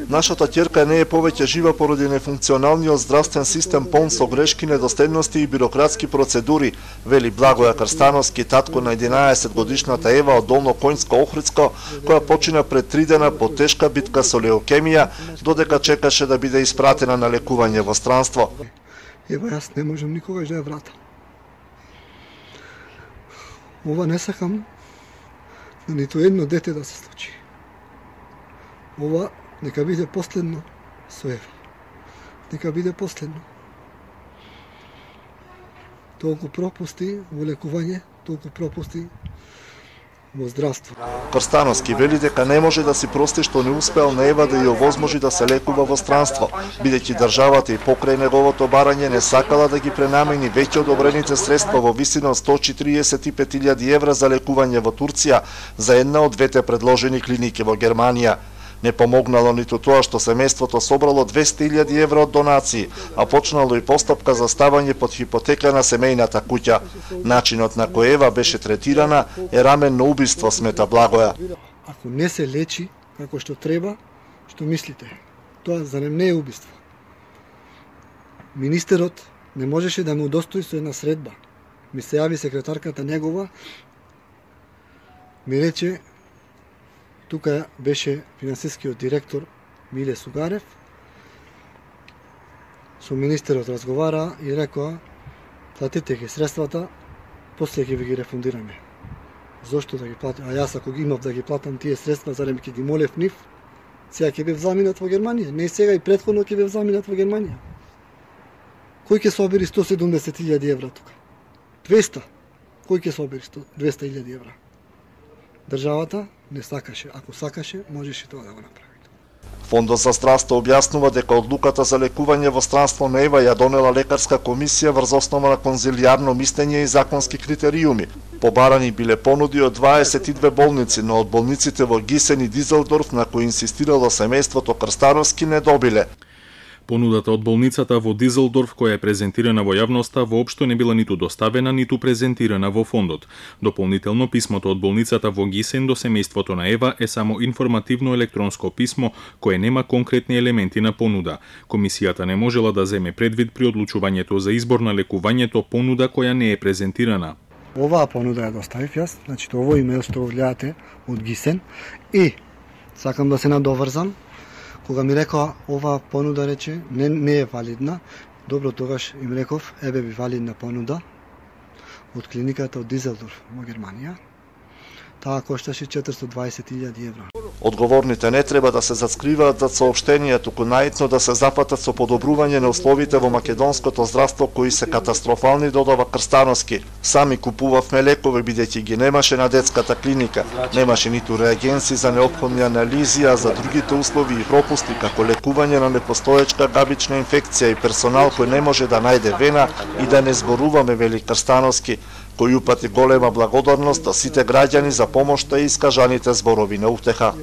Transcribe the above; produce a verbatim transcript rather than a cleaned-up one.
Нашата ќерка не е повеќе жива поради нефункционалниот здравствен систем полн со грешки, недоследности и бирократски процедури, вели Благоја Крстановски, татко на единаесет годишната Ева од Долно Коњско Охридско, која почина пред три дена по тешка битка со леукемија, додека чекаше да биде испратена на лекување во странство. Ева, јас не можам никогаш да ја вратам. Ова не сакам на ниту едно дете да се случи. Ова нека биде последно со Ева. Нека биде последно. Толку пропусти во лекување, толку пропусти во здравство. Крстановски вели дека не може да си прости што не успеал на Ева да ја овозможи да се лекува во странство, бидејќи државата и покрај неговото барање не сакала да ги пренамени веќе одобрените средства во висина од сто четиридесет и пет илјади евра за лекување во Турција за една од двете предложени клиники во Германија. Не помогнало ниту тоа што семејството собрало двесте илјади евра од донации, а почнало и постапка за ставање под хипотека на семејната куќа. Начинот на кој Ева беше третирана е раменно убиство, смета Благоја. Ако не се лечи како што треба, што мислите? Тоа зарем не е убиство. Министерот не можеше да му удостои со една средба. Ми се јави секретарката негова, ми рече, тука беше финансискиот директор Миле Сугарев, со министерот разговара и рекоа, платите ги средствата, после ќе ви ги рефундираме. Зошто да ги платам? А јас ако ги имав да ги платам тие средства, зарем ќе ги молев нив, сега ќе бев заминат во Германија. Не сега и претходно ќе бев заминат во Германија. Кој ќе собери сто седумдесет илјади евра тука? двесте. Кој ќе собери двесте илјади евра? Државата не сакаше. Ако сакаше, можеше тоа да го направи. Фондот за здравство објаснува дека одлуката за лекување во странство на Ева ја донела лекарска комисија врз основа на конзилијарно мислење и законски критериуми. Побарани биле понуди од дваесет и две болници, но од болниците во Гисен и Дизелдорф, на кои инсистирало семејството Крстановски, не добиле. Понудата од болницата во Дизелдорф, која е презентирана во јавноста, воопшто не била ниту доставена, ниту презентирана во фондот. Дополнително, писмото од болницата во Гисен до семејството на Ева е само информативно електронско писмо, кое нема конкретни елементи на понуда. Комисијата не можела да земе предвид при одлучувањето за избор на лекувањето понуда која не е презентирана. Оваа понуда ја доставив јас, значи овој имейл што го гледате од Гисен, и сакам да се надоврзам. Кога ми рекоа ова понуда, рече, не, не е валидна, добро, тогаш им реков, еве би валидна понуда од клиниката од Дизелдорф во Германија. Таа кошташе четиристо и дваесет илјади евра. Одговорните не треба да се заскриваат зад соопштенија, туку наитно да се запатат со подобрување на условите во македонското здравство, кои се катастрофални, додава Крстановски. Сами купувавме лекови, бидејќи ги немаше на детската клиника. Немаше ниту реагенси за неопходни анализи, а за другите услови и пропусти, како лекување на непостоечка габична инфекција и персонал кој не може да најде вена, и да не зборуваме, вели Крстановски, кој упати голема благодарност до сите граѓани за помошта и искажаните зборови на утеха.